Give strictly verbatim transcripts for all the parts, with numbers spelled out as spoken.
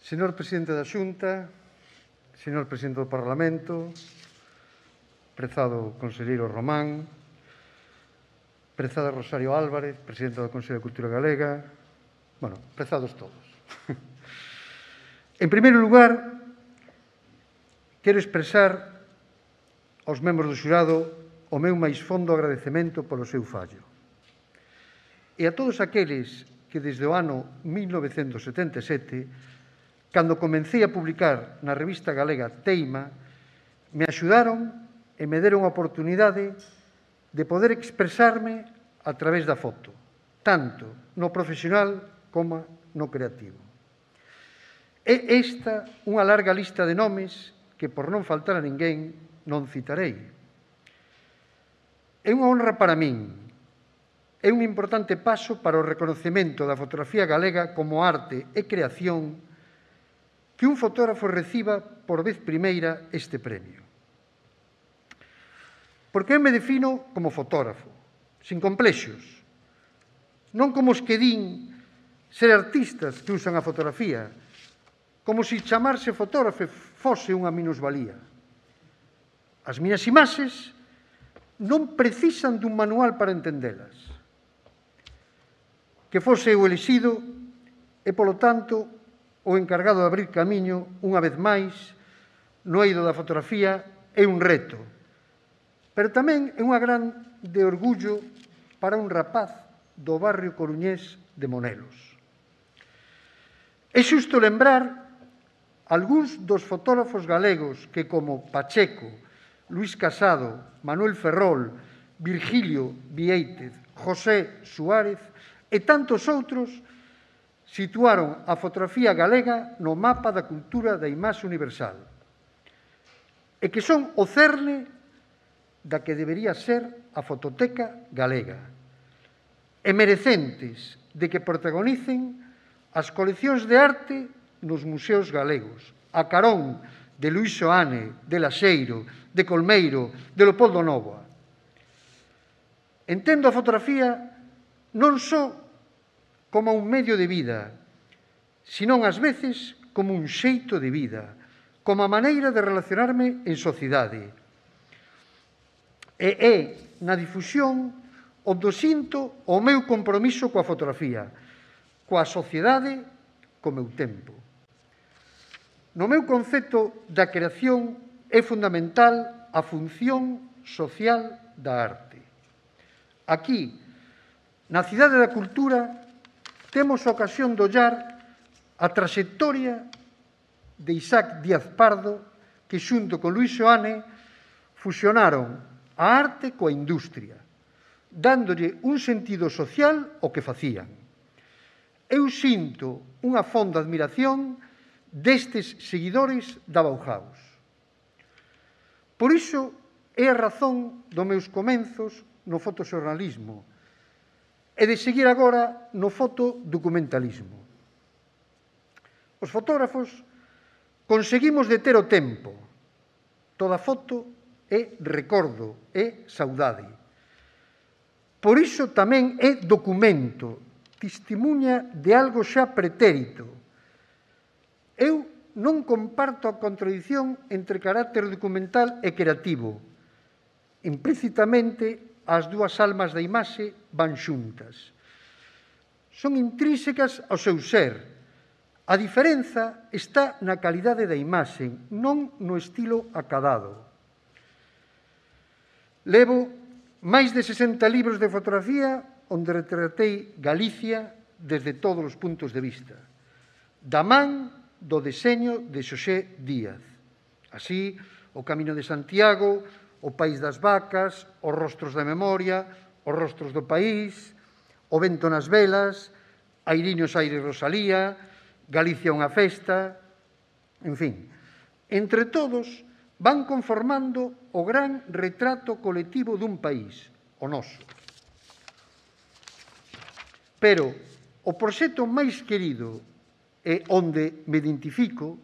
Señor Presidente da Xunta, señor Presidente do Parlamento, prezado conselleiro Román, prezada Rosario Álvarez, Presidenta do Consello de Cultura Galega, bueno, prezados todos. En primeiro lugar, quero expresar aos membros do xurado o meu máis fondo agradecemento polo seu fallo. E a todos aqueles que desde o ano mil novecentos setenta e sete, cando comecei a publicar na revista galega Teima, me axudaron e me deron a oportunidade de poder expresarme a través da foto, tanto no profesional como no creativo. É esta unha larga lista de nomes que, por non faltar a ninguén, non citarei. É unha honra para min, é un importante paso para o reconocemento da fotografía galega como arte e creación que un fotógrafo reciba por vez primeira este premio. Porque eu me defino como fotógrafo, sin complexos, non como os que din ser artistas que usan a fotografía, como se chamarse fotógrafo fose unha minusvalía. As miñas imaxes non precisan dun manual para entendelas. Que fose eu elixido e, polo tanto, o encargado de abrir camiño, unha vez máis, no eido da fotografía é un reto, pero tamén é unha gran de orgullo para un rapaz do barrio coruñés de Monelos. É xusto lembrar algúns dos fotógrafos galegos que, como Pacheco, Luís Casado, Manuel Ferrol, Virgilio Viéitez, José Suárez e tantos outros situaron a fotografía galega no mapa da cultura da imaxe universal e que son o cerne da que debería ser a fototeca galega e merecentes de que protagonicen as coleccións de arte nos museos galegos, a carón de Luís Soane, de Laxeiro, de Colmeiro, de Leopoldo Nóvoa. Entendo a fotografía non só como un medio de vida, senón ás veces como un xeito de vida, como a maneira de relacionarme en sociedade. E é na difusión onde sinto o meu compromiso coa fotografía, coa sociedade, co meu tempo. No meu concepto da creación é fundamental a función social da arte. Aquí, na Cidade da Cultura, temos a ocasión de ollar a traxectoria de Isaac Díaz Pardo que, xunto con Luís Soane, fusionaron a arte coa industria, dándolle un sentido social ao que facían. Eu sinto unha fonda admiración destes seguidores da Bauhaus. Por iso é a razón dos meus comenzos no fotoxornalismo e de seguir agora no fotodocumentalismo. Os fotógrafos conseguimos deter o tempo. Toda foto é recordo, é saudade. Por iso tamén é documento, testemunha de algo xa pretérito. Eu non comparto a contradición entre carácter documental e creativo. Implícitamente, as dúas almas da imaxe van xuntas. Son intrínsecas ao seu ser. A diferenza está na calidade da imaxe, non no estilo acadado. Levo máis de sesenta libros de fotografía onde retratei Galicia desde todos os puntos de vista, da man do deseño de Xosé Díaz. Así, o Camiño de Santiago, o País das Vacas, os Rostros da Memoria, os Rostros do País, o Vento nas Velas, Airiños Aire Rosalía, Galicia unha festa, en fin. Entre todos van conformando o gran retrato colectivo dun país, o noso. Pero o proxecto máis querido e onde me identifico,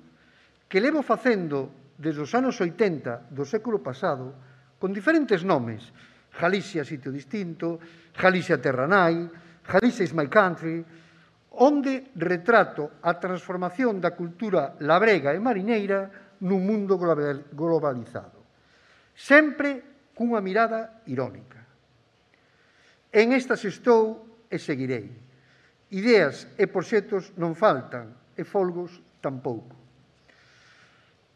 que levo facendo desde os anos oitenta do século pasado, con diferentes nomes, Galicia Sitio Distinto, Galicia Terra Nai, Galicia is my country, onde retrato a transformación da cultura labrega e mariñeira nun mundo globalizado, sempre cunha mirada irónica. En estas estou e seguirei. Ideas e proxectos non faltan, e folgos tampouco.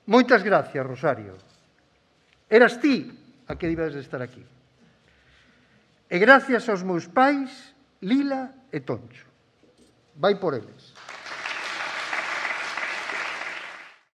Moitas gracias, Rosario. Eras ti a que debes de estar aquí. E gracias aos meus pais, Lila e Toncho. Vai por eles.